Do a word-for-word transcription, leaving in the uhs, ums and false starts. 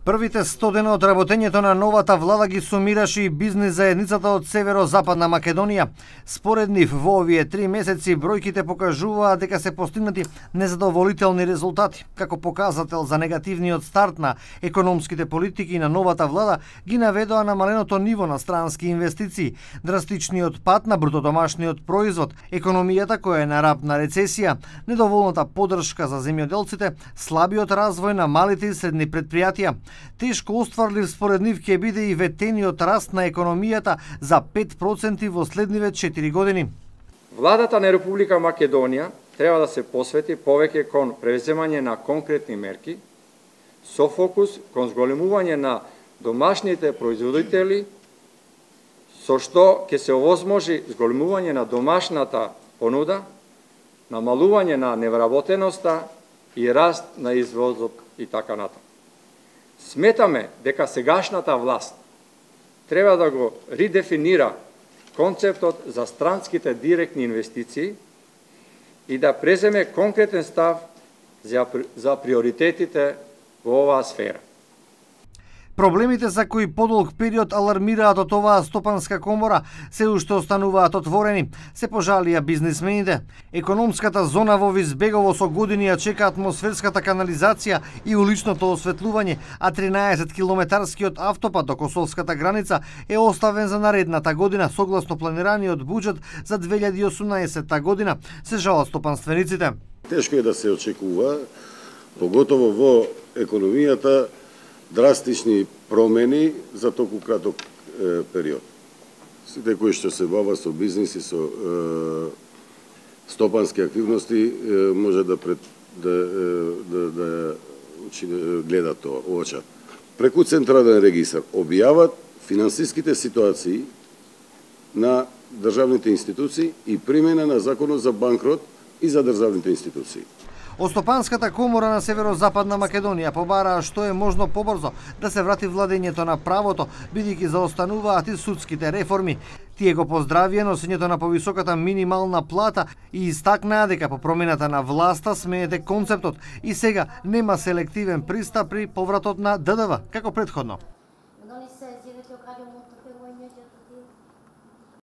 Првите сто дена од работењето на новата влада ги сумираше и бизнис заедницата од Северо-Западна Македонија. Според нив, во овие три месеци бројките покажуваат дека се постигнати незадоволителни резултати. Како показател за негативниот старт на економските политики на новата влада ги наведоа намаленото ниво на странски инвестиции, драстичниот пад на брутодомашниот производ, економијата која е на рап на рецесија, недоволната поддршка за земјоделците, слабиот развој на малите и средни предпријатија. Тешко остварлив според нив ќе биде и ветениот раст на економијата за пет проценти во следниве четири години. Владата на Република Македонија треба да се посвети повеќе кон превземање на конкретни мерки со фокус кон зголемување на домашните производители, со што ќе се овозможи зголемување на домашната понуда, намалување на невработеноста и раст на извозот и така натаму. Сметаме дека сегашната власт треба да го редефинира концептот за странските директни инвестиции и да преземе конкретен став за, за приоритетите во оваа сфера. Проблемите за кои подолг период алармираат од оваа стопанска комора се уште остануваат отворени, се пожалија бизнисмените. Економската зона во Визбегово со години ја чека атмосферската канализација и уличното осветлување, а тринаесет километарскиот автопат до косовската граница е оставен за наредната година согласно планираниот буџет за две илјади и осумнаесетта година, се жалат стопанствениците. Тешко е да се очекува, поготово во економијата, драстични промени за толку краток е, период. Сите кои што се бава со бизнис и со е, стопански активности е, може да пред, да да да, да гледат тоа, оочат. Преку централен регистар објават финансиските ситуации на државните институции и примена на законот за банкрот и за државните институции. Од Стопанската комора на Северо-Западна Македонија побараа што е можно побрзо да се врати владењето на правото, бидејќи заостануваат и судските реформи. Тие го поздравија носењето на повисоката минимална плата и истакнаа дека по промената на власта сменете концептот и сега нема селективен пристап при повратот на ДДВ, како претходно.